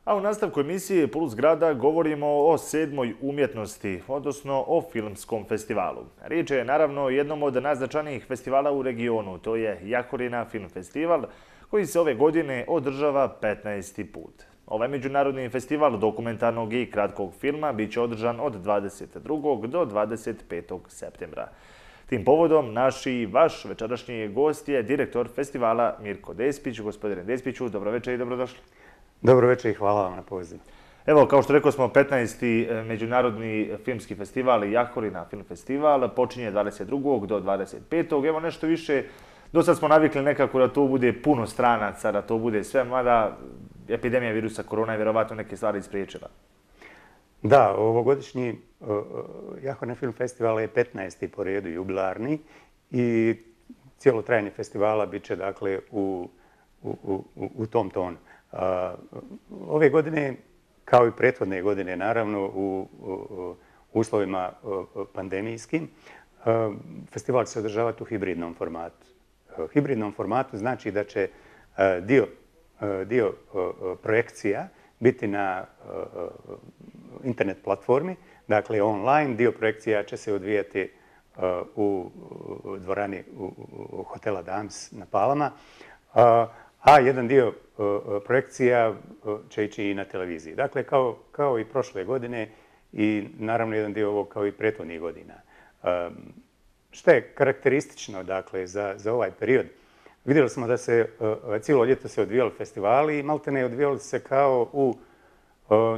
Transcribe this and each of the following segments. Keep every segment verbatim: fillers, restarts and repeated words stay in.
A u nastavku emisije Puls grada govorimo o sedmoj umjetnosti, odnosno o filmskom festivalu. Riječ je naravno o jednom od najznačajnijih festivala u regionu, to je Jahorina film festival, koji se ove godine održava petnaesti put. Ovaj međunarodni festival dokumentarnog i kratkog filma bit će održan od dvadeset drugog do dvadeset petog septembra. Tim povodom naš i vaš večerašnji gost je direktor festivala Mirko Despić. Gospodine Despiću, dobro večer i dobrodošli. Dobro večer i hvala vam na pozivu. Evo, kao što rekao smo, petnaesti međunarodni filmski festival Jahorina film festival počinje dvadeset drugog do dvadeset petog Evo nešto više, do sad smo navikli nekako da to bude puno stranaca, da to bude sve, mada epidemija virusa korona je vjerovatno neke stvari ispriječila. Da, ovogodišnji Jahorina film festival je petnaesti po redu jubilarni i cijelo trajanje festivala bit će dakle u, u, u, u tom tonu. Ove godine, kao i prethodne godine, naravno, u uslovima pandemijskim, festival će se održavati u hibridnom formatu. Hibridnom formatu znači da će dio, dio projekcija biti na internet platformi, dakle online, dio projekcija će se odvijati u dvorani u hotela Dames na Palama, a jedan dio projekcija će ići i na televiziji. Dakle, kao, kao i prošle godine i naravno jedan dio ovog kao i prethodnih godina. Što je karakteristično dakle, za, za ovaj period? Vidjeli smo da se cijelo ljeto se odvijali festivali i maltene odvijali se kao u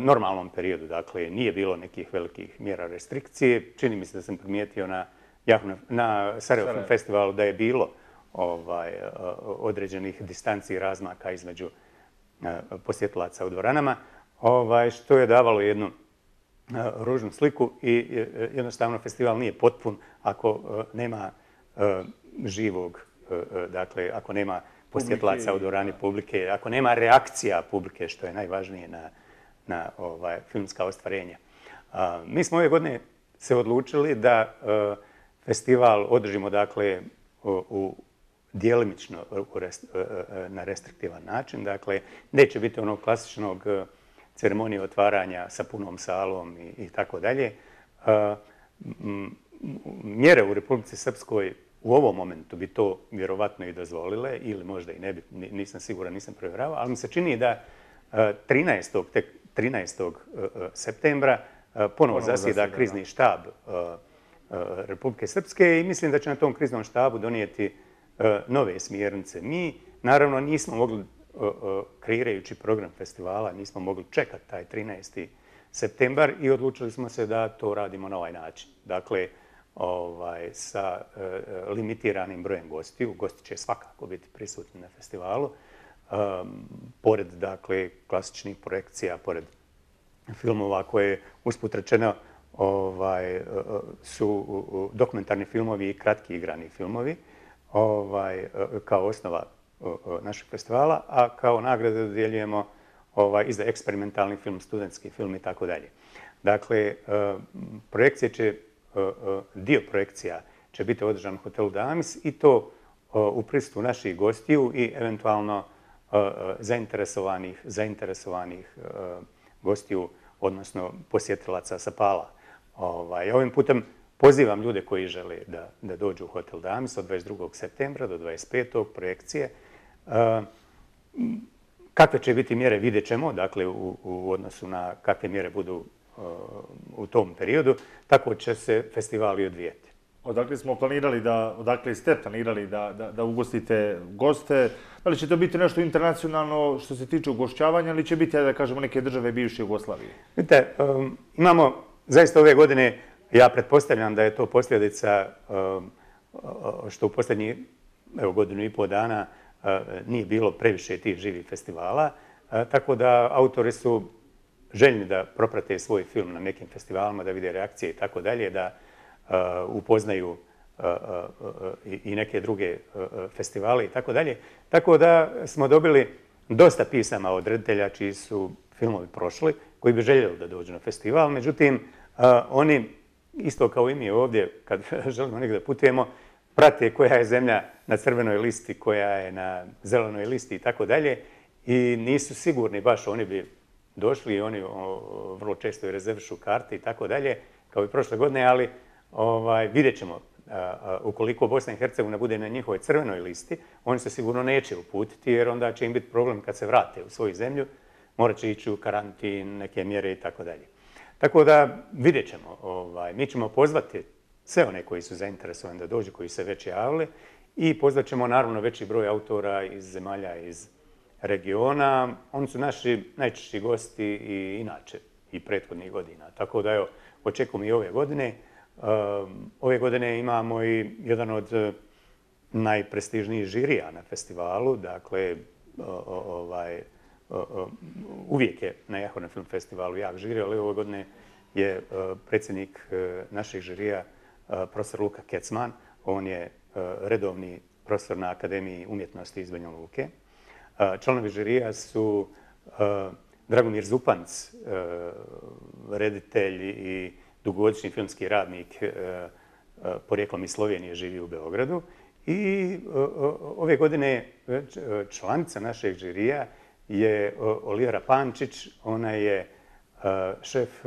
normalnom periodu. Dakle, nije bilo nekih velikih mjera restrikcije. Čini mi se da sam primijetio na, na Sarajevo Film Festivalu da je bilo ovaj, određenih distanci i razmaka između posjetilaca u dvoranama, ovaj, što je davalo jednu ružnu sliku i jednostavno festival nije potpun ako nema živog, dakle, ako nema posjetilaca u dvorani publike, ako nema reakcija publike, što je najvažnije na, na ovaj, filmska ostvarenja. Mi smo ove godine se odlučili da festival održimo dakle u djelimično na restriktivan način. Dakle, neće biti onog klasičnog ceremonije otvaranja sa punom salom i, i tako dalje. Mjere u Republici Srpskoj u ovom momentu bi to vjerovatno i dozvolile, ili možda i ne bi, nisam siguran, nisam provjeravao, ali mi se čini da trinaestog tek trinaestog septembra ponovo zasjeda krizni štab Republike Srpske i mislim da će na tom kriznom štabu donijeti nove smjernice. Mi, naravno, nismo mogli, kreirajući program festivala, nismo mogli čekati taj trinaesti septembar i odlučili smo se da to radimo na ovaj način. Dakle, ovaj, sa uh, limitiranim brojem gostiju. Gosti će svakako biti prisutni na festivalu. Um, pored, dakle, klasičnih projekcija, pored filmova koje, usput rečeno, ovaj, su dokumentarni filmovi i kratki igrani filmovi, ovaj, kao osnova našeg festivala, a kao nagrade dodjeljujemo ovaj, i za eksperimentalni film, studentski film i tako dalje. Dakle, projekcije će, dio projekcija će biti održan u hotelu Damis i to u prisustvu naših gostiju i eventualno zainteresovanih, zainteresovanih gostiju, odnosno posjetilaca sa Pala. Ovaj, ovim putem pozivam ljude koji žele da, da dođu u hotel Damis od dvadeset drugog septembra do dvadeset petog projekcije. Kakve će biti mjere vidjet ćemo, dakle u, u odnosu na kakve mjere budu u tom periodu, tako će se festivali odvijeti. Odakle smo planirali da, odakle ste planirali da, da, da ugostite goste? Da li će to biti nešto internacionalno što se tiče ugošćavanja ili će biti, da kažemo, neke države bivše Jugoslavije? Vidite, um, imamo zaista ove godine, ja pretpostavljam da je to posljedica um, što u posljednjih evo, godinu i pol dana uh, nije bilo previše tih živih festivala, uh, tako da autori su željni da proprate svoj film na nekim festivalima, da vide reakcije i tako dalje, da uh, upoznaju uh, uh, i neke druge uh, festivale i tako dalje. Tako da smo dobili dosta pisama od reditelja čiji su filmovi prošli, koji bi željeli da dođu na festival. Međutim, uh, oni, isto kao i mi ovdje, kad želimo negdje da putujemo, prate koja je zemlja na crvenoj listi, koja je na zelenoj listi i tako dalje. I nisu sigurni baš, oni bi došli i oni vrlo često i rezervišu karte i tako dalje, kao i prošle godine, ali vidjet ćemo. Ukoliko Bosna i Hercegovina bude na njihovoj crvenoj listi, oni se sigurno neće uputiti, jer onda će im biti problem kad se vrate u svoju zemlju, morat će ići u karantin, neke mjere i tako dalje. Tako da vidjet ćemo. Mi ćemo pozvati sve one koji su zainteresovani da dođu, koji se već javili, i pozvat ćemo naravno veći broj autora iz zemalja iz regiona. Oni su naši najčešći gosti i inače i prethodnih godina. Tako da evo, očekujem i ove godine. Ove godine imamo i jedan od najprestižnijih žirija na festivalu. Dakle, uvijek je na Jahorna film festivalu jak žiri, ali ove godine je predsjednik našeg žirija profesor Luka Kecman. On je redovni profesor na Akademiji umjetnosti iz Banja Luke. Članovi žirija su Dragomir Zupanc, reditelj i dugogodišnji filmski radnik, porijeklom iz Slovenije, živi u Beogradu. I ove godine članica našeg žirija je Olivera Pančić. Ona je šef,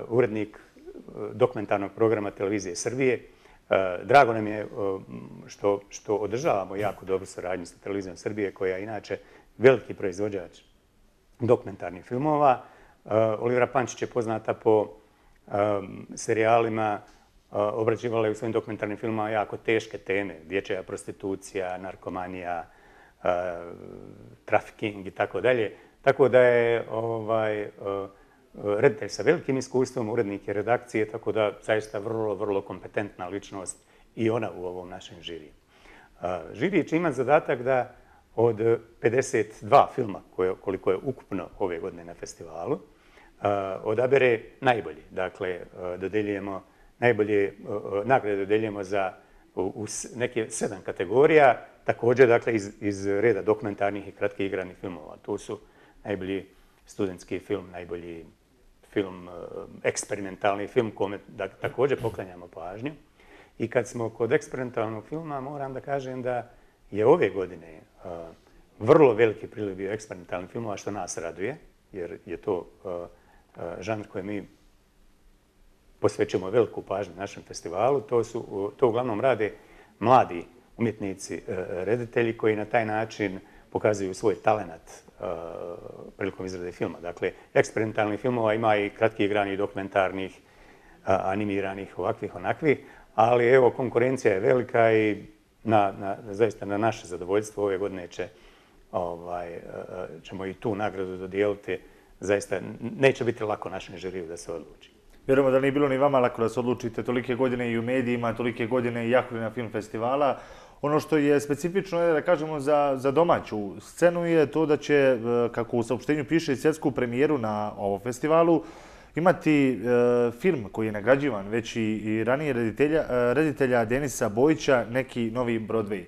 urednik dokumentarnog programa Televizije Srbije. Drago nam je što održavamo jako dobru saradnju sa Televizijom Srbije, koja je inače veliki proizvođač dokumentarnih filmova. Olivera Pančić je poznata po serijalima, obrađivala je u svojim dokumentarnim filmama jako teške teme, dječja prostitucija, narkomanija, trafiking i tako dalje. Tako da je reditelj sa velikim iskustvom, urednik je redakcije, tako da zaista vrlo, vrlo kompetentna ličnost i ona u ovom našem žiriju. Žiri će imati zadatak da od pedeset dva filma, koliko je ukupno ove godine na festivalu, odabere najbolji. Dakle, dodeljujemo najbolje nagrade dodeljujemo za neke sedam kategorija, također dakle iz reda dokumentarnih i kratkih igranih filmova. Tu su najbolji studentski film, najbolji film, eksperimentalni film, kome također poklanjamo pažnju. I kad smo kod eksperimentalnog filma, moram da kažem da je ove godine vrlo veliki priliv bio eksperimentalnih filmova, što nas raduje, jer je to žanr koji mi posvećujemo veliku pažnju našem festivalu. To, su, to uglavnom rade mladi umjetnici, reditelji koji na taj način pokazuju svoj talenat prilikom izrade filma. Dakle, eksperimentalnih filmova ima i kratki igranih, dokumentarnih, animiranih, ovakvih, onakvih, ali evo, konkurencija je velika i na, na, zaista na naše zadovoljstvo ove godine će, ovaj, ćemo i tu nagradu dodijeliti. Zaista neće biti lako našem žiriju da se odluči. Vjerujemo da nije bilo ni vama lako da se odlučite tolike godine i u medijima, tolike godine i Jahorina film festivala. Ono što je specifično, je, da kažemo, za, za domaću scenu je to da će, kako u saopštenju piše, svjetsku premijeru na ovom festivalu imati e, film koji je nagrađivan već i, i ranije reditelja, reditelja Denisa Bojića, neki novi Broadway.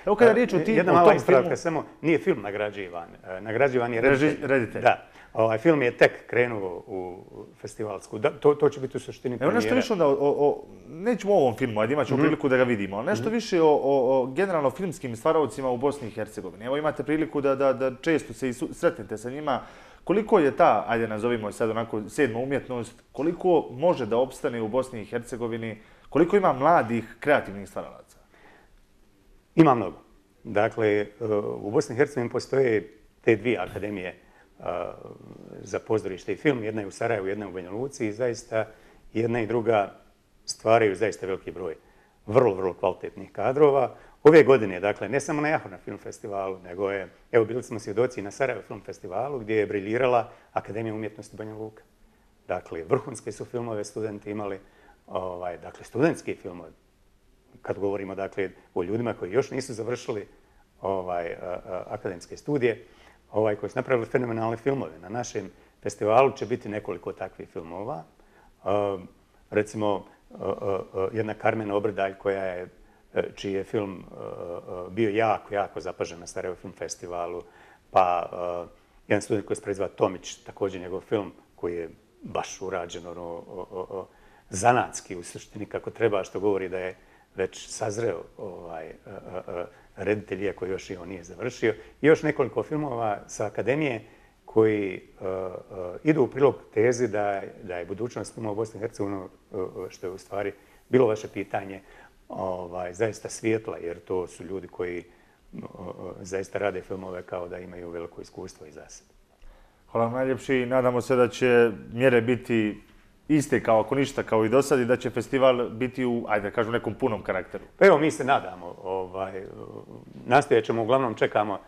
Evo kada riječ o tim, Jedna mala ispravka, samo nije film nagrađivan. Nagrađivan je reditelj. reditelj. Da. Ovaj film je tek krenuo u festivalsku. Da, to, to će biti u suštini premijera. Evo nešto više onda, o, o, nećemo o ovom filmu, ajde imat ćemo mm-hmm. priliku da ga vidimo, ali nešto mm-hmm. više o, o, o generalno filmskim stvaravcima u Bosni i Hercegovini. Evo imate priliku da, da, da često se i sretnete sa njima. Koliko je ta, ajde nazovimo je sad onako sedma umjetnost, koliko može da opstane u Bosni i Hercegovini, koliko ima mladih kreativnih stvaralaca? Ima mnogo. Dakle, u Bosni i Hercegovini postoje te dvije akademije za pozorište i film. Jedna je u Sarajevu, jedna je u Banja Luci i zaista jedna i druga stvaraju zaista veliki broj vrlo, vrlo kvalitetnih kadrova. Ove godine, dakle, ne samo na Jahorna film festivalu, nego je, evo, bili smo svjedoci na Sarajevo film festivalu gdje je briljirala Akademija umjetnosti Banja Luka. Dakle, vrhunske su filmove studenti imali, ovaj, dakle, studentski filmovi. Kad govorimo, dakle, o ljudima koji još nisu završili ovaj, a, a, akademske studije, ovaj, koji su napravili fenomenalne filmove. Na našem festivalu će biti nekoliko takvih filmova. Uh, recimo, uh, uh, jedna Karmen Obrdalj, koja je, čiji je film uh, bio jako, jako zapažen na Sarajevo film festivalu. Pa uh, jedan student koji se preziva Tomić, također njegov film koji je baš urađen ono, o, o, o, zanatski u suštini kako treba, što govori da je već sazreo ovaj, uh, uh, reditelj, iako još i on nije završio. I još nekoliko filmova sa akademije koji idu u prilog tezi da je budućnost filma u Bosni i Hercegovini, što je u stvari bilo vaše pitanje, zaista svijetla, jer to su ljudi koji zaista rade filmove kao da imaju veliko iskustvo iza sebe. Hvala vam najljepši i nadamo se da će mjere biti iste kao ako ništa kao i do sad i da će festival biti u, ajde da kažem, nekom punom karakteru. Pa evo, mi se nadamo. Nastojat ćemo, uglavnom čekamo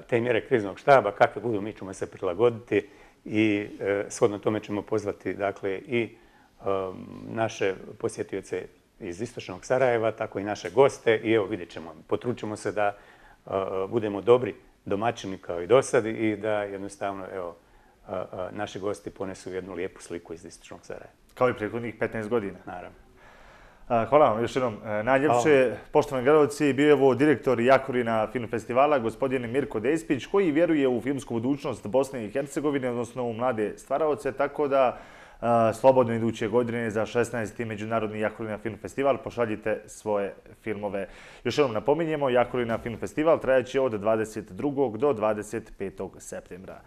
te mjere kriznog štaba, kakve budu, mi ćemo se prilagoditi i shodno tome ćemo pozvati i naše posjetioce iz istočnog Sarajeva, tako i naše goste i evo vidjet ćemo, potrudit ćemo se da budemo dobri domaćini kao i do sad i da jednostavno, evo, naši gosti ponesu jednu lijepu sliku iz istočnog Sarajeva. Kao i prethodnih petnaest godina. Naravno. Hvala vam još jednom najljepše. Poštovani gledalci, bio je ovo direktor Jakorina film festivala, gospodin Mirko Despić, koji vjeruje u filmsku budućnost Bosne i Hercegovine, odnosno u mlade stvaraoce, tako da slobodno iduće godine za šesnaesti Međunarodni Jakorina film festival pošaljite svoje filmove. Još jednom napominjemo, Jakorina film festival trajaće od dvadeset drugog do dvadeset petog septembra.